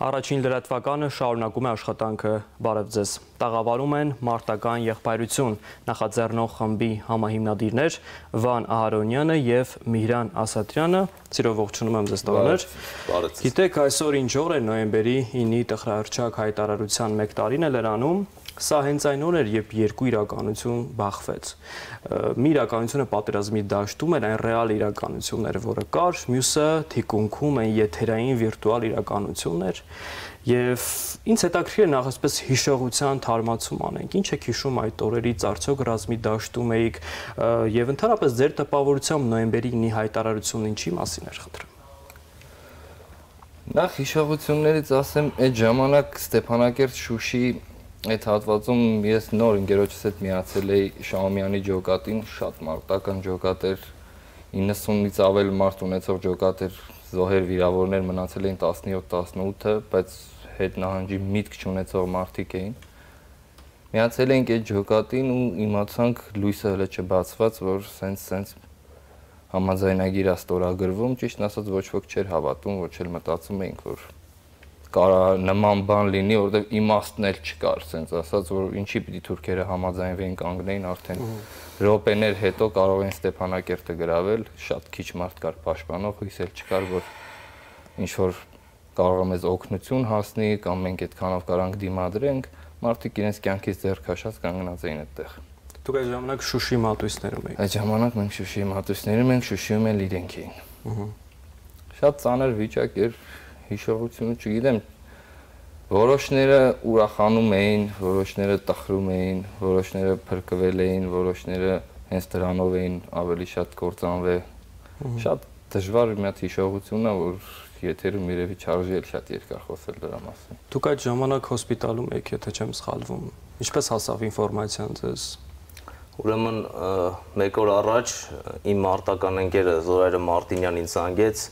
Առաջին լրատվականը շարունակում է աշխատանքը, բարև ձեզ, տաղավարում են մարտական եղբայրություն, նախաձեռնող խմբի համահիմնադիրներ Վան Ահարոնյանը և Միհրան Ասատրյանը, սիրով ողջունում եմ ձեզ տղաներ, գիտեք այսօր ինչ օր է նոյեմբերի 9-ի տխրահռչակ հայտարարության 1 տարին է լրանում, Սա հենց այն օր էր, երբ երկու իրականություն բախվեց։ Մի իրականությունը պատերազմի դաշտում էր այն ռեալ իրականությունները, որը կար, մյուսը թիկունքում այն եթերային վիրտուալ իրականություններ, եւ ինձ հետաքրքիր է նախ այսպես հիշողության թարմացում անենք։ Ինչ եք հիշում այդ օրերից, արդյոք ռազմի դաշտում էիք եւ ընդհանրապես ձեր տպավորությամբ նոյեմբերի 9-ի հայտարարությունն ինչի մասին էր, խնդրեմ։ Նախ հիշողություններից ասեմ, այդ ժամանակ Ստեփանակերտ Շուշի Այդ հատվածում ես նոր ընկերոջս հետ միացել էի Շահումյանի ջոկատին, շատ մարտական ջոկատ էր, 90-ից ավել մարդ ունեցող ջոկատ էր, զոհեր վիրավորներ մնացել էին 17-18-ը, բայց հետ նահանջի միտք չունեցող մարդիկ էին։ Միացել էինք այդ ջոկատին ու իմացանք լույսը հələ չբացված, որ սենց համաձայնագիր է ստորագրվում, ճիշտն ասած ոչ ոք չէր հավատում, ոչ էլ մտածում էինք, որ կարա նման բան լինի, որովհետև իմաստն էլ չկար, ասենց ասած, որ ինչի պիտի թուրքերը համաձայնվեին կանգնեին, արդեն րոպեներ հետո կարող են Ստեփանակերտը գրավել, շատ քիչ մարդ կար պաշտպանող, հույս էլ չկար, որ ինչ որ կարող է մեզ օգնություն հասնի, կամ մենք այդքանով կարանք դիմադրենք, մարդիկ իրենց կյանքից ձեռ քաշած կանգնած էին այդտեղ։ Դուք այդ ժամանակ Շուշի մատույցներում եք։ Այդ ժամանակ մենք Շուշիի մատույցներում ենք, Շուշիում էլ իրենք էին։ Շատ ծանր վիճակ էր, հիշողությունը չգիտեմ, որոշները ուրախանում էին, որոշները տխրում էին, որոշները փրկվել էին, որոշները հենց դրանով էին ավելի շատ կործանվել։ Շատ դժվար մի հատ հիշողություն է, որ եթերում երևի չարժի էլ շատ երկար խոսել դրա մասին։ Դուք այդ ժամանակ հոսպիտալում եք, եթե չեմ սխալվում։ Ինչպես հասավ ինֆորմացիան ձեզ։ Ուրեմն 1 օր առաջ իմ մարտական ընկերը Զորայրը Մարտինյանն ինձ զանգեց,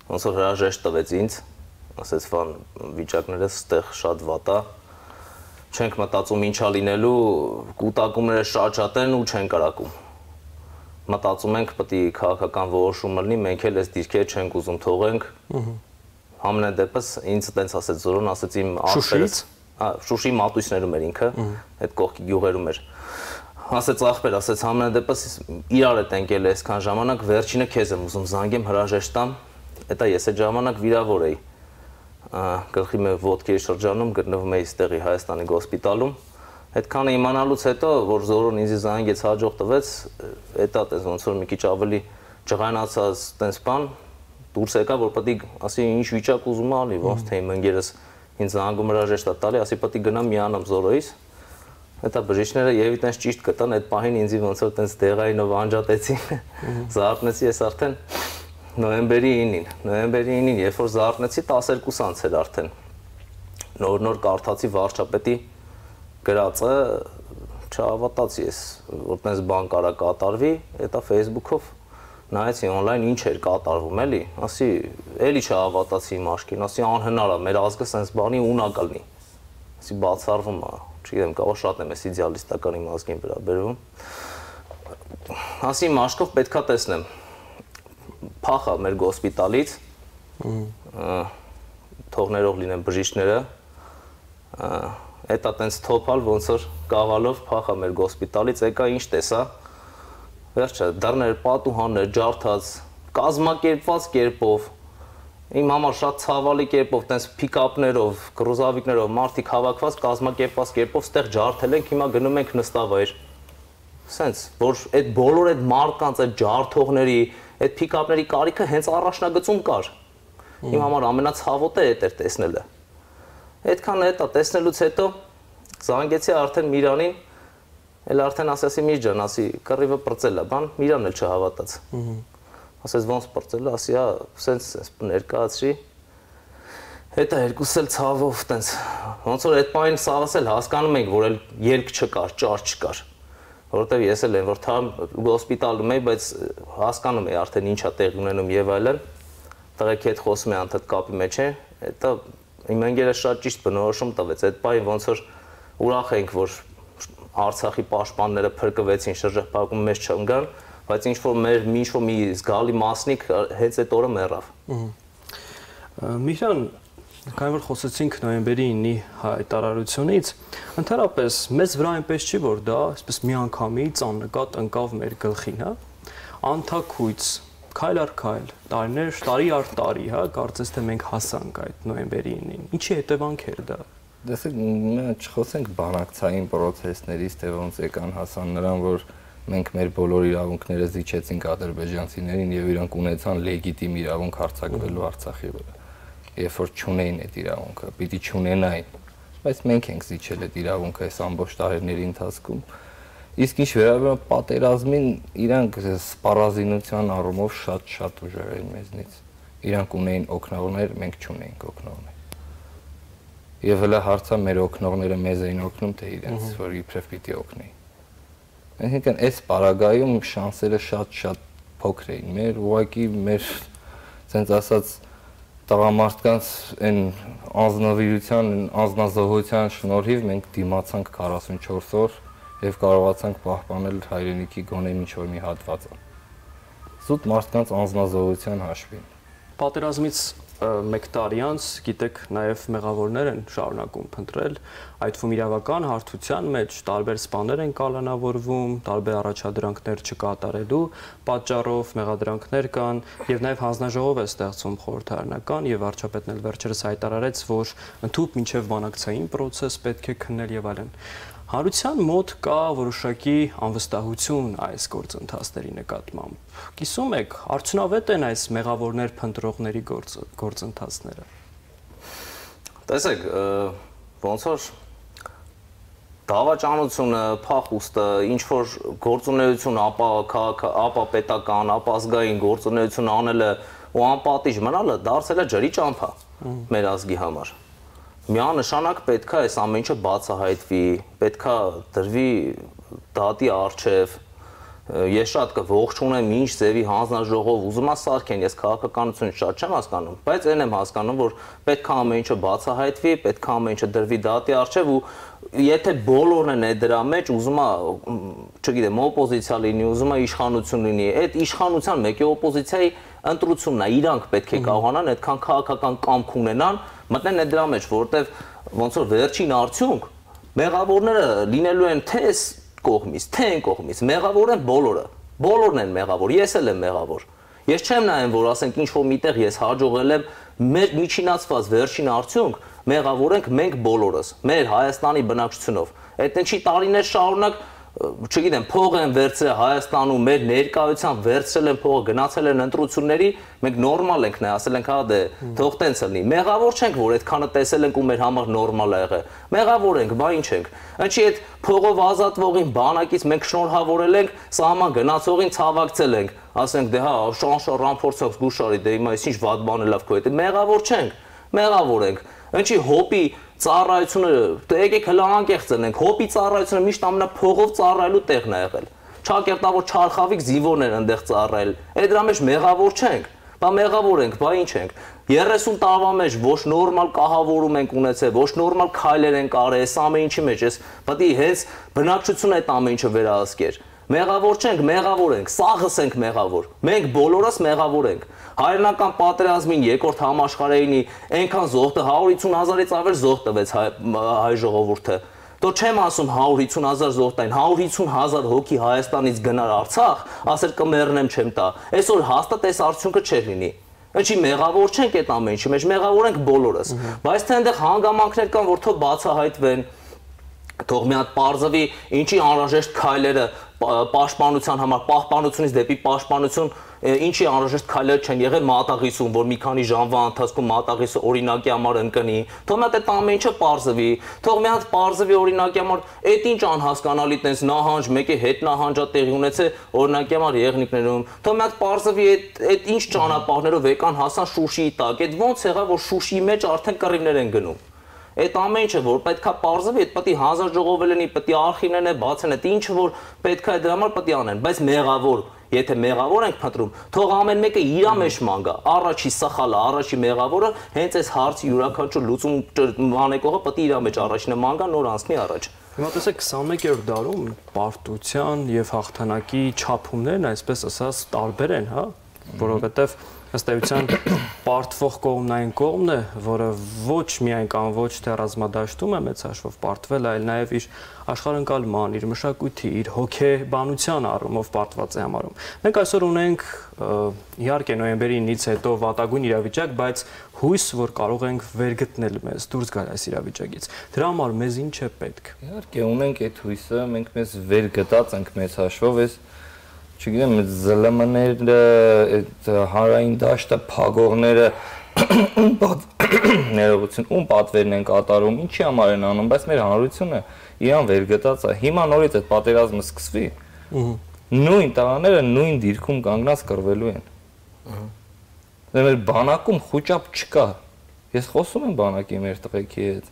ոնց որ հրաժեշտ տվեց ինձ, ասեց վան վիճակները ստեղ շատ վատ է, չենք մտածում ինչա լինելու, կուտակումները շաչատեն ու չենք կարակում։ Մտածում ենք պետք է քաղաքական որոշում լինի, մենք էլ այս դիրքերը չենք ուզում թողենք։ Համենայն դեպս ինձ տենց ասեց Զորոն, ասեց իմ ախպերս, Շուշի մատույցներում էր ինքը, այդ կողքի գյուղերում էր։ Ասեց ախպեր, ասեց համենայն դեպս իրար հետ ենք ել այսքան ժամանակ, վերջինը քեզ եմ ուզում զանգեմ հրաժեշտ տամ, դա ես այդ ժամանակ վիրավոր էի։ Գլխի մեր ոտքերի շրջանում գտնվում էի ստեղի Հայաստանի հոսպիտալում։ Այդքանը իմանալուց հետո, որ Զորոն ինձ զանգեց հաջող տվեց, դա տես ոնց որ մի քիչ ավելի ջղայնացած տես բան դուրս եկա, որ պետք է ասի ինչ վիճակ ուզում ալի, ոնց թե իմ ընկերս ինձ զանգում հրաժեշտ տալի, ասի պետք է գնամ միանամ Զորոյից։ Դա բժիշկները եւի տես ճիշտ գտան, այդ պահին ինձ ոնց որ տես դեղայինով անջատեցին։ Զարթնեցի ես արդեն նոյեմբերի 9-ին, երբ որ զարթնեցի 12 անց էր արդեն։ Նոր կարդացի վարչապետի գրածը, չհավատացի ես, որ տես բան կարա կատարվի, դա Facebook-ով նայեցի on-line ինչ էր կատարվում, էլի, ասի, էլի չհավատացի իմ աչքին, ասի անհնար է, մեր ազգը sense բանի ունակ լինի։ Ասի բացառվում է, չգիտեմ, կարող շատ եմ էս իդեալիստական իմ ազգին վերաբերվում։ Ասի իմ աչքով պետքա տեսնեմ փախա մեր հոսպիտալից, թողներով լինեն բժիշկները, դա տենց թոփալ ոնց որ կավալով փախա մեր հոսպիտալից, եկա ինչ տեսա, վերջը դռներ, պատուհաններ, ջարդած, կազմակերպված կերպով, իմ համար շատ ցավալի կերպով, տենց փիկապներով, կրուզավիկներով, մարդիկ հավաքված, կազմակերպված կերպով ստեղ ջարդել ենք, հիմա գնում ենք նստավայր։ Սենց, որ այդ բոլոր այդ մարդկանց, այդ ջարդողների, այդ փիկապների կարիքը հենց առաջնագծում կար։ Իմ համար ամենացավոտը էր տեսնելը։ Այդքան հետո տեսնելուց հետո զանգեցի արդեն Միրանին, էլ արդեն ասեցի Միր ջան, ասի կռիվը պրծել է, բան, Միրանն էլ չհավատաց։ Ասեց ոնց պրծել է, ասի, սենց ներկայացրի։ Հետո երկուս էլ ցավով տենց, ոնց որ այդ պահին սաղս էլ հասկանում ենք, որ էլ ելք չկար, ճար չկար։ Որովհետև ես էլ եմ որ թամ հոսպիտալում էի, բայց հասկանում էի արդեն ինչա տեղի ունենում եւ այլն։ Տղեկ հետ խոսում է անդադ կապի մեջ է, դա իմ ընկերը շատ ճիշտ բնորոշում տվեց։ Այդ պահին ոնց որ ուրախ ենք, որ Արցախի պաշտպանները փրկվեցին, շրջափակում մեզ չընկան, բայց ինչ որ մի զգալի մասնիկ հենց այդ օրը մեռավ։ Միհրան, Քանի որ խոսեցինք նոյեմբերի 9-ի հայտարարությունից, ընդհանրապես մեզ վրա այնպես չի, որ դա այսպես միանգամից աննկատ ընկավ մեր գլխին, հա? Անթաքույց, քայլ առ քայլ, տարի առ տարի, հա, կարծես թե մենք հասանք այդ նոյեմբերի 9-ին։ Ինչի հետևանք էր դա։ Դեսեք, մենք չխոսենք բանակցային process-ներից, թե ոնց եկան հասան նրան, որ մենք մեր բոլոր իրավունքները զիջեցինք ադրբեջանցիներին եւ իրանք ունեցան լեգիտիմ իրավունք հարձակվելու Արցախի վրա։ Երբ որ չունեին այդ իրավունքը, պիտի չունենային, բայց մենք ենք զիջել այդ իրավունքը այս ամբողջ տարիների ընթացքում։ Իսկ ինչ վերաբերում պատերազմին, իրանք սպառազինության առումով շատ ուժեղ էին մեզնից։ Իրանք ունեին օգնողներ, մենք չունեինք օգնողներ։ Եվ հələ հարցը մեր օգնողները մեզ էին օգնում, թե իրենց, որ իբրև պիտի օգնեին։ Այսինքն այս պարագայում շանսերը շատ փոքր էին։ Մեր ուղղակի մեր ցենց ասած տղամարդկանց այն անznավիրության, անznազողության շնորհիվ մենք դիմացանք 44 օր եւ կարողացանք պահպանել հայրենիքի գոնե ինչ-որ մի հատվածը։ Զուտ մարդկանց անznազողության հաշվին։ Պատերազմից 1 տարի անց, գիտեք, նաև մեղավորներ են շարունակում փնտրել, այդ թվում իրավական հարթության մեջ տարբեր սպաներ են կալանավորվում, տարբեր առաջադրանքներ չկատարելու պատճառով մեղադրանքներ կան եւ նաև հանձնաժողով է ստեղծում խորհրդարանական եւ վարչապետն էլ վերջերս հայտարարեց, որ ընդհանուր մինչեւ բանակցային process պետք է քննել եւ այլն։ Հանրության մոտ կա որոշակի անվստահություն այս գործընթացների նկատմամբ։ Կիսում եք, արդյունավետ են այս մեղավորներ փնտրողների գործընթացները։ Տեսեք, ոնց որ դավաճանությունը, փախուստը, ինչ որ գործունեություն, ապա պետական, ապա ազգային գործունեություն անելը ու անպատիժ մնալը դարձել է ջրի ճամփա մեր ազգի համար։ Միանշանակ պետք է այս ամեն ինչը բացահայտվի, պետք է դրվի դատի առջև։ Ես շատ կողջունեմ ինչ ձևի հանձնաժողով ուզում ասարքեն, ես քաղաքականություն շատ չեմ հասկանում, բայց այն եմ հասկանում, որ պետք է ամեն ինչը բացահայտվի, պետք է ամեն ինչը դրվի դատի առջև ու եթե բոլորն են այդ դրա մեջ, ուզում է, չգիտեմ, օպոզիցիա լինի, ուզում է իշխանություն լինի, այդ իշխանության մեկի օպոզիցիայի ընտրությունն է, իրանք պետք է կարողանան այդքան քաղաքական կամք ունենան, մտնեն այդ դրա մեջ, որովհետև ոնց որ վերջին արդյունք մեղավորները լինելու են թե կողմից, թե այն կողմից, մեղավոր են բոլորը, բոլորն են մեղավոր, ես էլ եմ մեղավոր։ Ես չեմ նայում, որ ասենք ինչ որ միտեղ ես հաջողել եմ, մեր միջինացված վերջին արդյունք մեղավոր ենք մենք բոլորս, մեր Հայաստանի բնակչությունով։ Այդ ինչի տարիներ շարունակ, չգիտեմ, փող են վերցրել Հայաստանում, մեր ներկայությամբ վերցրել են փողը, գնացել են ընտրությունների, մենք նորմալ ենք նայ, ասել ենք, հա դե, թող տենց լինի։ Մեղավոր չենք, որ այդքանը տեսել ենք ու մեր համար նորմալ է եղել։ Մեղավոր ենք, բա ինչ ենք։ Ինչի այդ փողով ազատվողին բանակից մենք շնորհավորել ենք, սահման գնացողին ցավակցել ենք, ասենք դե հա, շանշա ռամփորձակ զգուշարի, դե հիմա ինչ վատ բան է լավ քո հետ։ Մեղավոր չենք, մեղավոր ենք։ Ինչի հոպի ծառայությունը, դե եկեք հլա անկեղծ ենք, հոպի ծառայությունը միշտ ամենափողով ծառայելու տեղն է եղել։ Չակերտավոր չարխավիկ զինվորներ են այնտեղ ծառայել։ Այդ դրա մեջ մեղավոր չենք։ Բա մեղավոր ենք, բա ինչ ենք։ 30 տարվա մեջ ոչ նորմալ կահավորում ենք ունեցել, ոչ նորմալ քայլեր ենք արել, այս ամեն ինչի մեջ, այս պետք է հենց բնակչությունը այդ ամեն ինչը վերահսկեր։ Մեղավոր չենք, մեղավոր ենք, սաղս ենք մեղավոր։ Մենք բոլորս մեղավոր ենք։ Հայրենական պատերազմին երկրորդ համաշխարհայինի այնքան զոհ 150,000-ից ավել զոհ տվեց հայ ժողովուրդը։ Դո չեմ ասում 150,000 զոհ տային, 150,000 հոգի Հայաստանից գնար Արցախ, ասել կմեռնեմ չեմ տա։ Այսօր հաստատ այս արդյունքը չէր լինի։ Ինչի մեղավոր չենք այդ ամեն ինչի մեջ, մեղավոր ենք բոլորս։ Բայց թե այնտեղ հանգամանքներ կան, որ թող բացահայտվեն, թող մի հատ պարզվի ինչի անհրաժեշտ քայլերը պաշտպանության համար, պահպանությունից դեպի պաշտպանություն, ինչի անհրաժեշտ քայլեր չեն եղել մատաղիսում, որ մի քանի ժամվա ընթացքում մատաղիսը օրինակի համար ընկնի, թող մի հատ այդ ամեն ինչը պարզվի, թող մի հատ պարզվի օրինակի համար, այդ ինչ անհասկանալի տես նահանջ, մեկի հետ նահանջա տեղի ունեցել օրինակի համար եղնիկներում, թող մի հատ պարզվի այդ ինչ ճանապարհներով եկան հասան Շուշիի տակ, այդ ոնց եղավ որ Շուշիի մեջ արդեն կռիվներ են գնում։ Այդ ամեն ինչը որ պետքա պարզվի, այդ պետք է հանձնաժողով լինի, պետք է արխիվներն է բացեն, այդ ինչը որ պետքա է դրա համար պետք է անեն, բայց մեղավոր, եթե մեղավոր ենք փնտրում, թող ամեն մեկը իր մեջ մանգա, առաջի սխալը, առաջի մեղավորը, հենց այս հարցի յուրաքանչյուր լուծում անեկողը պետք է իր մեջ առաջինը մանգա, նոր անցնի առաջ։ Հիմա տեսեք 21-րդ դարում պարտության եւ հաղթանակի չափումներն այսպես ասած տարբեր են, հա, որովհետեւ ըստ էության պարտվող կողմն այն կողմն է, որը ոչ միայն կամ ոչ թե ռազմադաշտում է մեծ հաշվով պարտվել, այլ նաև իր աշխարհընկալման, իր մշակույթի, իր հոգեբանության առումով պարտված է համարում։ Մենք այսօր ունենք իհարկե նոյեմբերի 9-ից հետո վատագույն իրավիճակ, բայց հույս, որ կարող ենք վերգտնել մեզ, դուրս գալ այս իրավիճակից։ Դրա համար մեզ ինչ է պետք։ Իհարկե ունենք այդ հույսը, մենք մեզ վերգտած ենք մեծ հաշվով, այս չգիտեմ, այդ ԶԼՄ-ները, այդ հանրային դաշտը, փագողները ներողություն, պատվերն են կատարում, ինչի համար են անում, բայց մեր հանրությունը իրան վերգտած է։ Հիմա նորից այդ պատերազմը սկսվի, նույն տղաները նույն դիրքում կանգնած կռվելու են։ Մեր բանակում խոճապ չկա։ Ես խոսում եմ բանակի մեր տղեկի հետ,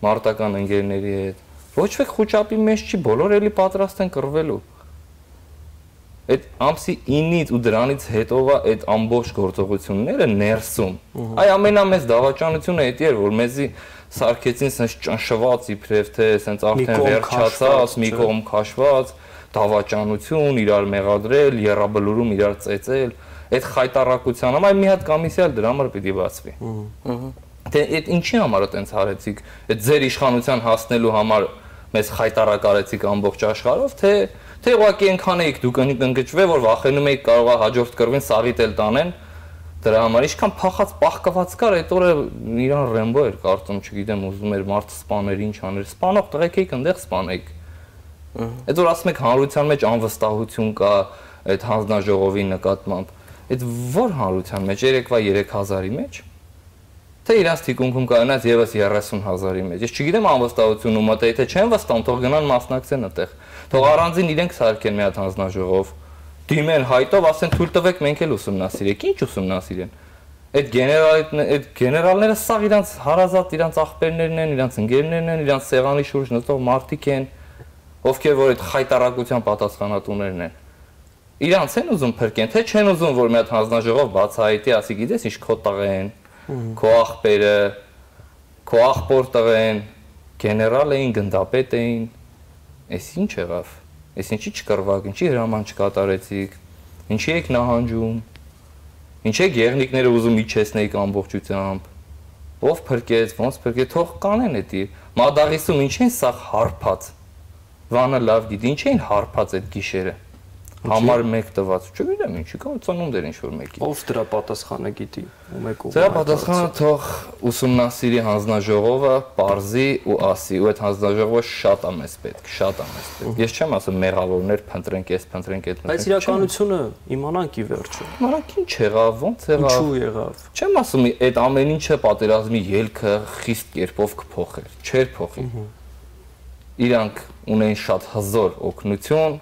մարտական ընկերների հետ։ Ոչ ոք խոճապի մեջ չի, բոլորը էլի պատրաստ են կռվելու։ Այդ ամսի 9-ից ու դրանից հետո այդ ամբողջ գործողությունները ներսում։ Այ ամենամեծ դավաճանությունը դա էր, որ մեզի սարքեցին sense ճնշված իբրև թե sense արդեն վերջացած, մի կողմ քաշված, դավաճանություն, իրար մեղադրել, երրաբլուրում իրար ծեծել, այդ խայտարակության համար մի հատ կոմիսիա դրա համար պիտի բացվի։ Թե այդ ինչի համար է տենց հարեցիք, այդ ձեր իշխանության հասնելու համար մեզ խայտարակարեցիք ամբողջ աշխարհով, թե ուղղակի այնքան էիք դուք ընկճվել, որ վախենում էիք կարողա հաջորդ կռվին սաղիտ էլ տանեն, դրա համար ինչքան փախած պահկված կար, այդ օրը իրան Ռեմբո էր կարծում, չգիտեմ, ուզում էր մարդը սպաներ, ինչ աներ, սպանող տղեկ էիք, այնտեղ սպանեիք։ Այդ որ ասում եք հանրության մեջ անվստահություն կա այդ հանձնաժողովի նկատմամբ, այդ որ հանրության մեջ 3000-ի մեջ, թե իրանց թիկունքում կայանած եւս 30,000-ի մեջ։ Ես չգիտեմ անվստահություն ում է, թե չեն վստահում, թող գնան մասնակցեն այդտեղ։ Թող առանձին իրենք սարքեն մի հատ հանձնաժողով, դիմեն հայտով, ասեն թույլ տվեք մենք էլ ուսումնասիրենք։ Ինչ ուսումնասիրեն։ Այդ գեներալները սաղ իրանց հարազատ, իրանց աղբերներն են, իրանց ընկերներն են, իրանց սեղանի շուրջ նստող մարդիկ են, ովքեր որ այդ խայտարակության պատասխանատուներն են։ Իրանց են ուզում փրկեն, թե չեն ուզում որ մի հատ հանձնաժողով բացահայտի, ասի գիտես ինչ քո տղեն, քո աղբերը, քո աղբոր տղեն, գեներալ էին, գնդապետ էին, այս ինչ եղավ, այս ինչի չկռվակ, ինչի հրաման չկատարեցիք, ինչի եք նահանջում, ինչ եք եղնիկները ուզում իջեցնեիք ամբողջությամբ, ով փրկեց, ոնց փրկեց, թող կանեն էդի, Մադաղիսում ինչ են սա հարփած, Վանը լավ գիտի, ինչ էին հարփած այդ գիշերը, համար մեկ տված, չգիտեմ ինչի կամ ծնունդ էր ինչ-որ մեկի։ Ով դրա պատասխանը գիտի, ում եք ում։ Դրա պատասխանը թող ուսումնասիրի հանձնաժողովը, պարզի ու ասի, ու այդ հանձնաժողովը շատ է մեզ պետք, շատ է մեզ պետք։ Ես չեմ ասում մեղավորներ փնտրենք, փնտրենք այդ։ Բայց իրականությունը իմանանք ի վերջո։ Իմանանք ինչ եղավ, ոնց եղավ։ Ինչու եղավ։ Չեմ ասում այդ ամեն ինչը պատերազմի ելքը խիստ կերպով կփոխեր, չէր փոխի։ Իրանք ունեն շատ հզոր օգնություն,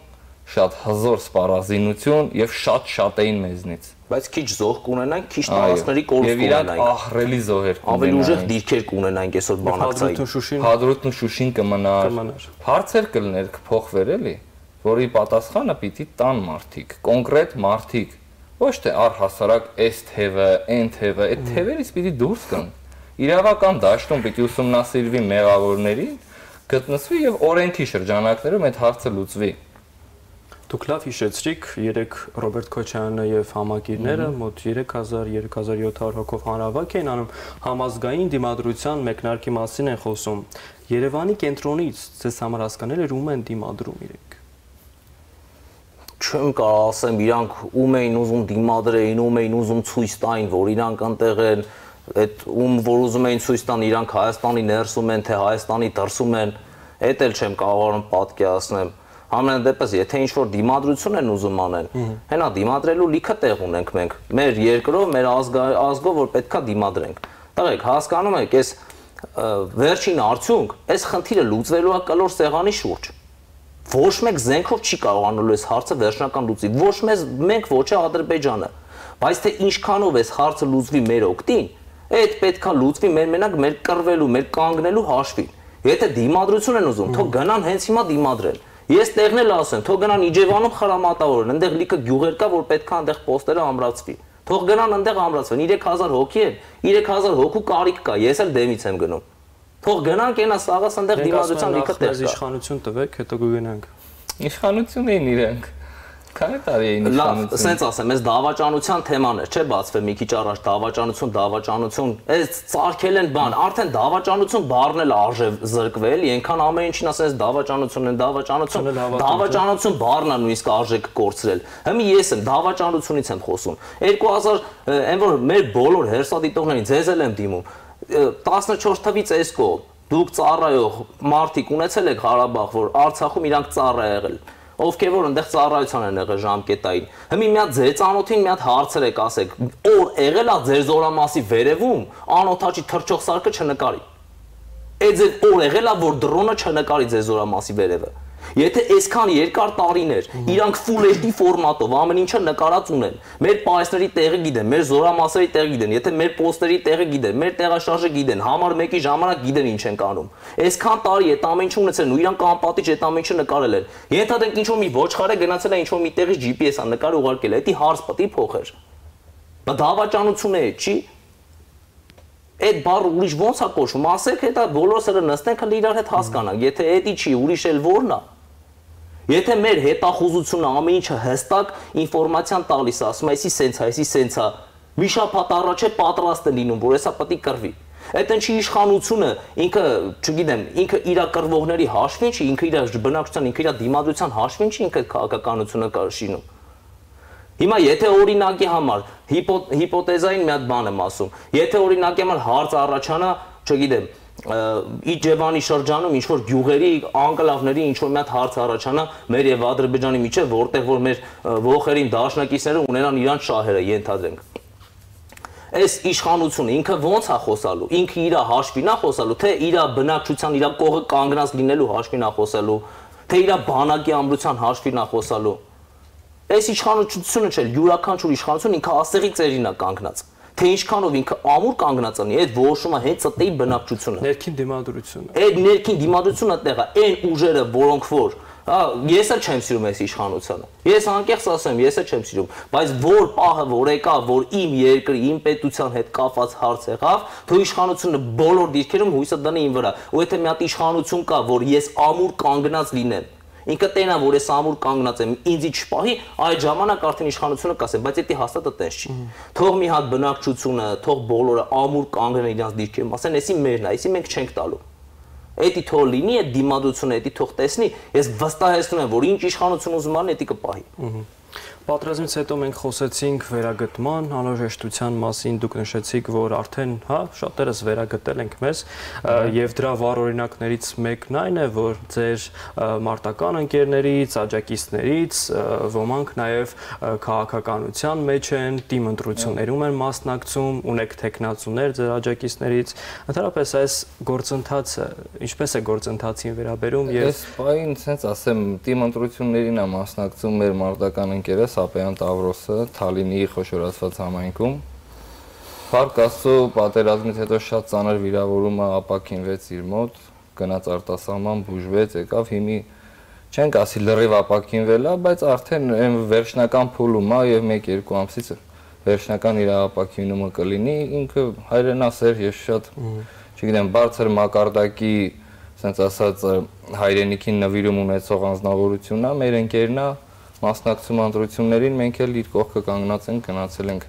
շատ հզոր սպառազինություն եւ շատ էին մեզնից։ Բայց քիչ զոհ կունենանք, քիչ տարածքների կորուստ կունենանք։ Եվ ահռելի զոհեր կունենանք։ Ավելի ուժեղ դիրքեր կունենանք այսօր բանակցային։ Հադրութն ու Շուշին կմնար։ Հարցեր կլներ կփոխվեր էլի, որի պատասխանը պիտի տան մարդիկ, կոնկրետ մարդիկ, ոչ թե առհասարակ այս թևը, այն թևը, այդ թևերից պիտի դուրս գան։ Իրավական դաշտում պիտի ուսումնասիրվի մեղավորներին, գտնվի եւ օրենքի շրջանակներում այդ հարցը լուծվի։ Դուք լավ հիշեցրիք, երեք Ռոբերտ Քոչարյանը եւ համակիրները մոտ 3000-3700 հոգով հանրավակ էին անում, համազգային դիմադրության մեկնարկի մասին են խոսում։ Երևանի կենտրոնից ձեզ համար հասկանել էր ում են դիմադրում իրենք։ Չեմ կարող ասեմ իրանք ում էին ուզում դիմադրեին, ում էին ուզում ցույց տային, որ իրանք անտեղ են, այդ ում որ ուզում էին ցույց տան իրանք Հայաստանի ներսում են, թե Հայաստանի դրսում են, այդ էլ չեմ կարողանում պատկերացնել։ Ամեն դեպս, եթե ինչ-որ դիմադրություն են ուզում անեն, հենա դիմադրելու լիքը տեղ ունենք մենք, մեր երկրով, մեր ազգով, որ պետքա դիմադրենք։ Տղեկ, հասկանում եք, այս վերջին արդյունք, այս խնդիրը լուծվելու է կլոր սեղանի շուրջ։ Ոչ մեկ զենքով չի կարողանալու այս հարցը վերջնական լուծի, ոչ մենք, ոչ է Ադրբեջանը, բայց թե ինչքանով այս հարցը լուծվի մեր օգտին, այդ պետքա լուծվի մեր մենակ մեր կռվելու, մեր կանգնելու հաշվին։ Եթե դիմադրություն են ուզում, թող գնան հենց հիմա դիմադրեն։ Ես տեղն էլ ասեմ, թող գնան Իջևանում խրամատավորեն, այնտեղ լիքը գյուղեր կա, որ պետքա այնտեղ պոստերը ամրացվի։ Թող գնան այնտեղ ամրացվեն, 3000 հոգի են, 3000 հոգու կարիք կա, ես էլ դեմից եմ գնում։ Թող գնանք այնա սաղաս այնտեղ դիմադրության լիքը տեղ կա։ Իշխանություն տվեք, հետո կգնանք։ Իշխանություն էին իրենք։ Քանի տարի է Լավ, սենց ասեմ, այս դավաճանության թեման է, չէ՞ բացվել մի քիչ առաջ դավաճանություն, այս ծարքել են բան, արդեն դավաճանություն բառն էլ արժե զրկվել, այնքան ամեն ինչին ասես դավաճանություն բառն է նույնիսկ արժեք կորցրել։ Հիմա ես եմ դավաճանությունից եմ խոսում։ 2000 այն որ մեր բոլոր հերսադիտողներին ձեզ էլ եմ դիմում 14 թվից այս կողմ դուք ծառայող մարդիկ ունեցել եք Ղարաբաղ, որ Արցախում իրանք ծառա եղել, ովքեր որ այնտեղ ծառայության են եղել ժամկետային։ Հիմա մի հատ ձեր ծանոթին մի հատ հարցրեք, ասեք, օր եղել է ձեր զորամասի վերևում, անօթաչի թռչող սարքը չնկարի։ Այդ ձեր օր եղել է, որ դրոնը չնկարի ձեր զորամասի վերևը։ Եթե այսքան երկար տարիներ իրանք full HD ֆորմատով ամեն ինչը նկարած ունեն, մեր պայսների տեղը գիտեն, մեր զորամասերի տեղը գիտեն, եթե մեր պոստերի տեղը գիտեն, մեր տեղաշարժը գիտեն, համար 1-ի ժամանակ գիտեն ինչ են անում։ Այսքան տարի այդ ամեն ինչը ունեցել ու իրանք անպատիժ այդ ամեն ինչը նկարել են։ Ենթադրենք ինչ որ մի ոչխար է գնացել է ինչ որ մի տեղից GPS-ը նկար ուղարկել է, դա հարց պետք է փոխեր։ Դա դավաճանություն է, չի։ Այդ բառը ուրիշ ոնց է կոչվում, ասեք հետա բոլորս էլ նստենք հենց իրար հետ հասկանանք, եթե էդի չի, ուրիշ էլ որն է։ Եթե մեր հետախուզությունը ամեն ինչը հստակ ինֆորմացիան տալիս է, ասում է, այսի սենց է, մի շաբաթ առաջ է պատրաստ է լինում, որ հեսա պետք է կռվի։ Այդ ինչի իշխանությունը ինքը, չգիտեմ, ինքը իր կռվողների հաշվին չի, ինքը իր բնակչության, ինքը իր դիմադրության հաշվին չի, ինքը քաղաքականությունը շինում։ Հիմա եթե օրինակի համար հիպոթեզային մի հատ բան եմ ասում, եթե օրինակի համար հարց առաջանա, չգիտեմ, Իջևանի շրջանում ինչ որ գյուղերի անկլավների ինչ որ մի հատ հարց առաջանա մեր եւ Ադրբեջանի միջեւ, որտեղ որ մեր ողերին դաշնակիցները ունենան իրանց շահերը, ենթադրենք։ Այս իշխանությունը ինքը ոնց է խոսալու, ինքը իր հաշվին է խոսալու, թե իր բնակչության, իր կողը կանգնած լինելու հաշվին է խոսալու, թե իր բանակի ամրության հաշվին է խոսալու։ Այս իշխանությունը չէ, յուրաքանչյուր իշխանություն ինքը ասեղի ծերին է կանգնած։ Թե ինչքանով ինքը ամուր կանգնած անի, այդ որոշումը հենց ըտեի բնակչությունը։ Ներքին դիմադրությունը։ Այդ ներքին դիմադրությունը տեղա, այն ուժերը, որոնք որ, ես էլ չեմ սիրում այս իշխանությունը։ Ես անկեղծ ասեմ, ես էլ չեմ սիրում, բայց որ պահը որ եկա, որ իմ երկրի, իմ պետության հետ կապված հարց եղավ, թող իշխանությունը բոլոր դիրքերում հույսը դնի իմ վրա։ Ու եթե մի հատ իշխանություն կա, որ ես ամուր կանգնած լինեմ, ինքը տենա որ ես ամուր կանգնած եմ, ինձի չպահի, այդ ժամանակ արդեն իշխանությունը կասե, բայց դա հաստատ այդպես չի։ Թող մի հատ բնակչությունը, թող բոլորը ամուր կանգնեն իրենց դիրքերում, ասեն, էսի մերն է, էսի մենք չենք տալու։ Էդի թող լինի այդ դիմադրությունը, էդի թող տեսնի, ես վստահեցնում եմ, որ ինչ իշխանություն ուզում անի, էդի կպահի։ Պատերազմից հետո մենք խոսեցինք վերագտման անհրաժեշտության մասին, դուք նշեցիք, որ արդեն, շատերս վերագտել ենք մեզ, եւ դրա վառ օրինակներից մեկն այն է, որ ձեր մարտական ընկերներից, աջակիցներից ոմանք նաեւ քաղաքականության մեջ են, թիմ ընտրություններում են մասնակցում, ունեք տեխնացուներ ձեր աջակիցներից, ընդհանրապես այս գործընթացը ինչպես է գործընթացին վերաբերում եւ այս բային sense ասեմ, թիմ ընտրություններին է մասնակցում մեր մարտական ընկերը Սապեյան Տավրոսը Թալինի խոշորացված համայնքում։ Փառք Աստծո, պատերազմից հետո շատ ծանր վիրավորումը ապակինվեց իր մոտ, գնաց արտասահման, բուժվեց, եկավ, հիմի չենք ասի լրիվ ապակինվել է, բայց արդեն այն վերջնական փուլում է եւ 1-2 ամսից վերջնական իր ապակինումը կլինի, ինքը հայրենասեր եւ շատ, չգիտեմ, բարձր մակարդակի, ասենց ասած, հայրենիքին նվիրում ունեցող անձնավորություն է, մեր ընկերն է մասնակցում ընտրություններին, մենք էլ իր կողքը կանգնած ենք, գնացել ենք,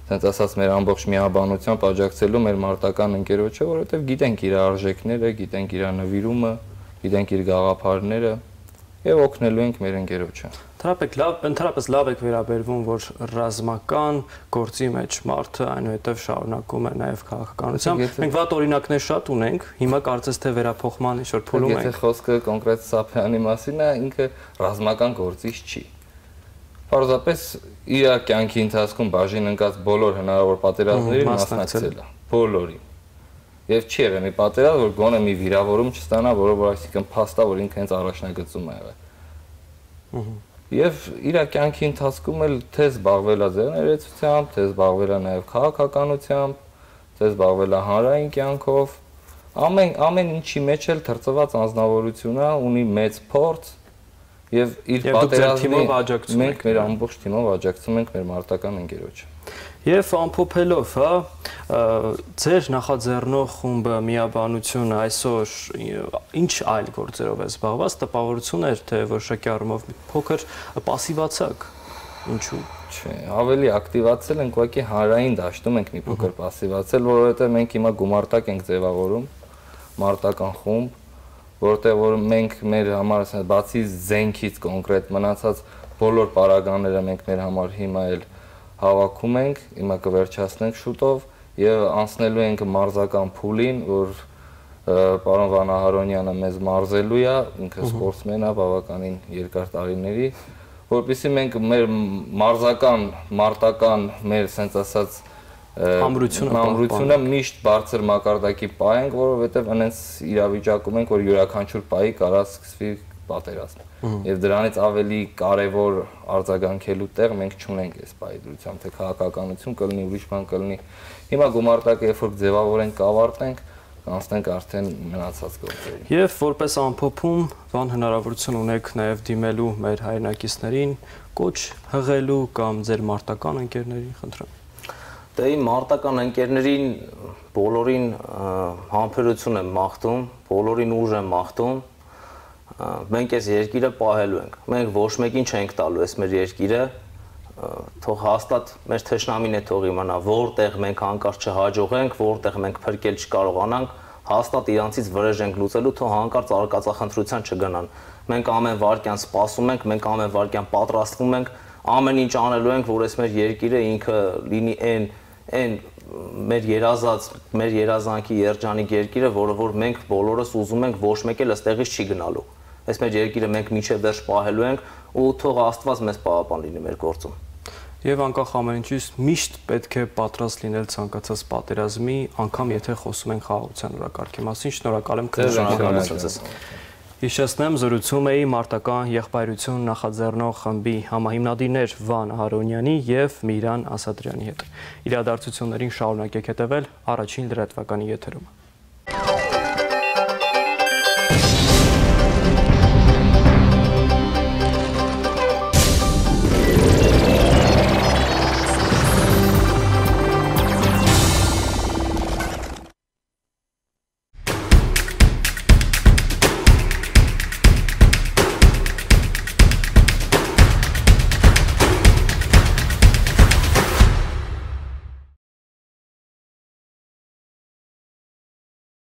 ասենց ասած, մեր ամբողջ միաբանությամբ աջակցելու մեր մարտական ընկերոջը, որովհետև գիտենք իր արժեքները, գիտենք իր նվիրումը, գիտենք իր գաղափարները եւ օգնելու ենք մեր ընկերոջը։ Ընդհանրապես լավ եք վերաբերվում, որ ռազմական գործի մեջ մարդը այնուհետև շարունակում է նաև քաղաքականությամբ։ Մենք վատ օրինակներ շատ ունենք, հիմա կարծես թե վերափոխման ինչ-որ փուլում ենք։ Եթե խոսքը կոնկրետ Սափյանի մասին է, ինքը ռազմական գործիչ չի։ Պարզապես իր կյանքի ընթացքում բաժին ընկած բոլոր հնարավոր պատերազմներին մասնակցել է, բոլորին։ Եվ չի եղել մի պատերազմ, որ գոնե մի վիրավորում չստանա, որը որ այսինքն փաստա, որ ինքը հենց առաջնագծում է եղել։ Եվ իր կյանքի ընթացքում էլ թե զբաղվել է ձեռներեցությամբ, թե զբաղվել է նաև քաղաքականությամբ, թե զբաղվել է հանրային կյանքով, ամեն ինչի մեջ էլ թրծված անձնավորություն է, ունի մեծ փորձ եւ իր պատերազմի մենք մեր ամբողջ թիմով աջակցում ենք մեր մարտական ընկերոջը։ Եվ ամփոփելով, ձեր նախաձեռնող խումբը միաբանությունը այսօր ինչ այլ գործերով է զբաղված, տպավորություն էր, թե որոշակի առումով փոքր պասիվացաք, ինչու՞։ Չէ, ավելի ակտիվացել ենք, ուղղակի հանրային դաշտում ենք մի փոքր պասիվացել, որովհետև մենք հիմա գումարտակ ենք ձևավորում, մարտական խումբ, որտեղ որ մենք մեր համար բացի զենքից կոնկրետ մնացած բոլոր պարագաները մենք մեր համար հիմա էլ հավաքում ենք, հիմա կվերջացնենք շուտով եւ անցնելու ենք մարզական փուլին, որ պարոն Վանահարոնյանը մեզ մարզելու է, ինքը սպորտսմեն է բավականին երկար տարիների, որովհետեւ մենք մեր մարզական, մարտական, մեր ասենց ասած ամրությունը միշտ բարձր մակարդակի պահենք, որովհետեւ այնպես իրավիճակում ենք, որ յուրաքանչյուր պահի կարա սկսվի պատերազմ։ Եվ դրանից ավելի կարևոր արձագանքելու տեղ մենք չունենք այս պայծրությամբ, թե քաղաքականություն կլինի, ուրիշ բան կլինի։ Հիմա գումարտակը երբ որ ձևավորենք, կավարտենք, կանցնենք արդեն մնացած գործերին։ Եվ որպես ամփոփում, բան հնարավորություն ունեք նաև դիմելու մեր հայրենակիցներին, կոչ հղելու կամ ձեր մարտական ընկերներին, խնդրեմ։ Դե իմ մարտական ընկերներին բոլորին համբերություն եմ մաղթում, բոլորին ուժ եմ մաղթում։ Մենք այս երկիրը պահելու ենք։ Մենք ոչ մեկին չենք տալու այս մեր երկիրը, թող հաստատ մեր թշնամին է թող իմանա, որտեղ մենք հանկարծ չհաջողենք, որտեղ մենք փրկել չկարողանանք, հաստատ իրանցից վրեժ ենք լուծելու, թող հանկարծ արկածախնդրության չգնան։ Մենք ամեն վարքյան սպասում ենք, մենք ամեն վարքյան պատրաստվում ենք, ամեն ինչ անելու ենք, որ այս մեր երկիրը ինքը լինի այն մեր երազած, մեր երազանքի երջանիկ երկիրը, որը որ մենք բոլորս ուզում ենք, ոչ մեկ էլ այստեղից չի գնալու։ Այս մեր երկիրը մենք մինչև վերջ պահելու ենք ու թող Աստված մեզ պահապան լինի մեր գործում։ Եվ անկախ ամեն ինչից միշտ պետք է պատրաստ լինել ցանկացած պատերազմի, անգամ եթե խոսում ենք խաղաղության օրակարգի մասին։ Շնորհակալ եմ քննարկումից։ Հիշեցնեմ, զրուցում էի մարտական եղբայրություն նախաձեռնող խմբի համահիմնադիրներ Վան Հարոնյանի եւ Միհրան Ասատրյանի հետ։ Իրադարձություններին շարունակեք հետևել առաջին լրատվականի եթերում։